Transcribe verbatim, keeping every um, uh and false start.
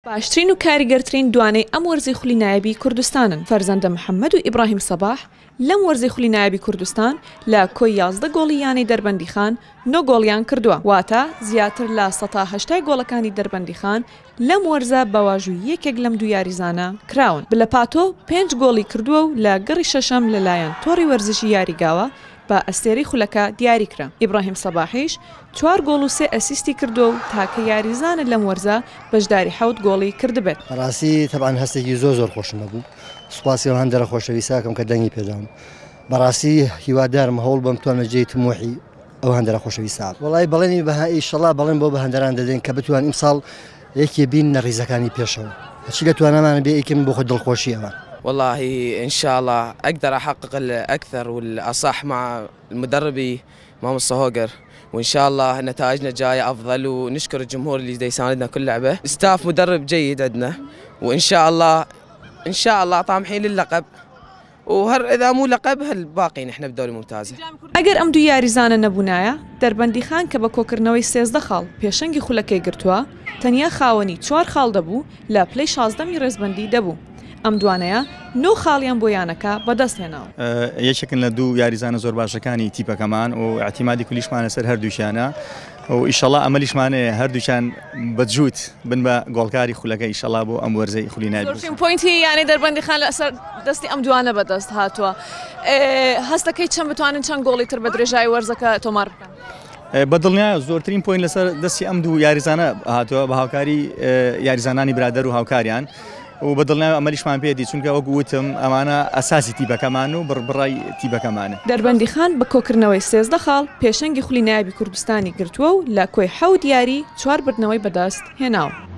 باشترین و کاریگەرترین دوانەی ئەم وەرزی خولی نایابی کوردستانن. فەرزەندە محەممەد و ئیبراهیم سەباح لەم وەرزی خولی نایابی کوردستان لە کۆی یازدە گۆڵی یانەی دەربەندیخان نۆ گۆڵیان کردووە، واتە زیاتر لە سەتا هەشتای گۆڵەکانی دەربەندیخان لەم وەرزە بە واژووی یەکێک لەم دوو یاریزانە کراون. بلەپاتۆ پێنج گۆڵی کردووە و لە گەڕی شەشەم لەلایەن تۆڕی وەرزشی یاریگاوە بە ئەستێرەی خولەکە دیاری کرا. ئیبراهیم سەباحیش چوار گۆڵ و سێ ئەسیستی کردووە و تاکە یاریزانە لەم وەرزە بەشداری حەوت گۆڵی کردبێت. بەڕاستی تەبعەن هەستێکی زۆر زۆر خۆشم هەبوو، سوپاسی ئەو هەندەرە خۆشەویستاکەم کە دەنگی پێدام. بەڕاستی هیوادارم هەوڵ بەم توانمە جێی تموحی ئەو هەندەرە خۆشەویستە. وەڵای بەڵێنی بە ئیشەڵا بەڵێن بۆ بە هەندەران دەدەین کە بتوان ئیمساڵ یەکێ بین لە ڕیزەکانی پێشەوە، هەرچی لە توانامان بێ یەکێم بۆ خۆ دڵخۆشی ئەوان. والله إن شاء الله أقدر أحقق الأكثر والأصح مع المدربي ماموستا هوجر، وإن شاء الله نتائجنا جاية أفضل، ونشكر الجمهور اللي يساندنا كل لعبة. ستاف مدرب جيد عندنا، وإن شاء الله إن شاء الله طامحين للقب، وهر إذا مو لقب هالباقي نحن بدوري ممتازة. ئەگەر ئەم دوو یاریزانە نەبوونایە، دەربەندیخان کە بە کۆکردنەوەی سێزدە خاڵ پێشەنگی خولەکەی گرتووە، تەنیا خاوەنی چوار خاڵ دەبوو لە پلەی شازدەمی ڕێزبەندی دەبوو. ئەم دوانەیە نۆ خاڵیان بۆ یانەکە بەدەست هێناوە. یەکێکن لە دوو یاریزانە زۆر باشەکانی تیپەکەمان و اعتیمادی کولیشمان لەسەر هەردووشیانە و ئیشەڵا ئەمەلیشمانەیە هەردووشیان بە جووت بن بە گۆڵکاری خولەکە ئیشەڵا بۆ ئەم وەرزەی خولی نایابی. زۆرترین point ی یانەی دەربەندیخان لەسەر دەستی ئەم دوانە بەدەست هاتووە. هەستەکەی چەند بتوانن چەند گۆڵی تر بە درێژایی وەرزەکە تۆمار بکەن؟ بە دڵنیا زۆرترین point لەسەر دەستی ئەم دوو یاریزانە هاتووە بە هاوکاری یاریزانانی برادەر و هاوکاریان، و بە دڵنیای ئەمەلیشمان پێدی، چونکە وەک وتم ئەمانە ئەساسی تیپەکەمان و بڕبڕای تیپەکەمانە. دەربەندیخان بە کۆکردنەوەی سێزدە خاڵ پێشەنگی خولی نایابی کوردستانی گرتووە و لە کۆی حەوت یاری چوار بردنەوەی بەدەست هێناوە.